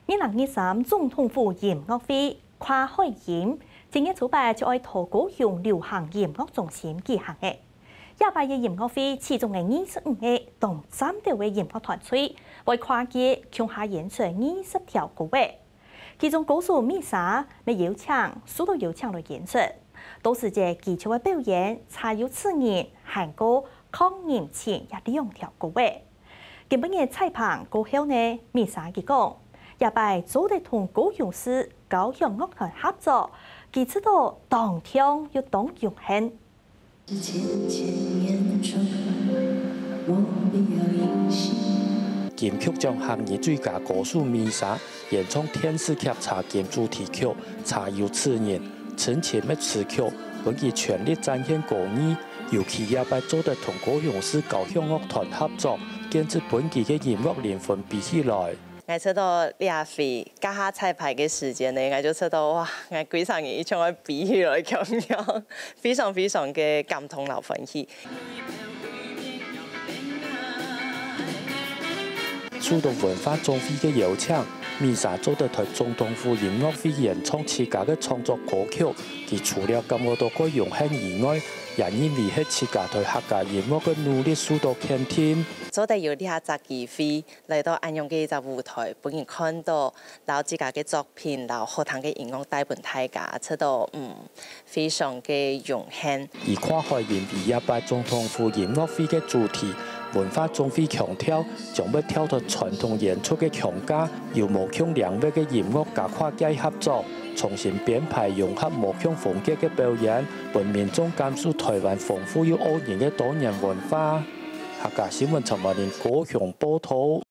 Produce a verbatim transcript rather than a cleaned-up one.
二零二三總統府音樂會跨海音，今月初八就愛在高雄流行音樂中心舉行了。這擺个音樂會其中个二十五个當嶄斗个音樂團隊，會跨界共下演出二十條歌仔。其中歌手米莎乜邀請，受到邀請來演出。到時節佢就會表演《茶油刺人》還過《抗人情》這兩條歌仔。 今晡日彩排過後呢，米莎佢講，這擺做得同高雄市交響樂團合作，佢感覺到當暢又當榮幸。金曲獎客語最佳歌手米莎演唱電視劇《茶金》主題曲《茶油刺人》，深情个詞曲，分佢全力展現歌藝。 尤其這擺做得同高雄市交響樂團合作，簡直分佢个音樂靈魂飛起來。𠊎感覺到這回這下彩排个時間呢，𠊎就感覺到哇，𠊎歸成人一種愛飛起來共樣，非常非常个感動摎歡喜。受到文化總會个邀請，米莎做得在總統府音樂會演唱自家个創作歌曲。佢除了感覺到蓋榮幸以外， 也認為係自家對客家音樂个努力受到肯定。做得有這隻機會來到恁樣个一隻舞台，分人看到，摎自家个作品，摎好聽个音樂帶分大家，感覺到嗯非常个榮幸。以跨海音為這擺總統府音樂會个主題，文化總會強調，將會跳脫傳統演出个框架，有無共領域个音樂家跨界合作，重新編排融合無共風格个表演， 分民眾感受台灣豐富又多元个多元文化。客家新聞陳文玲高雄報導。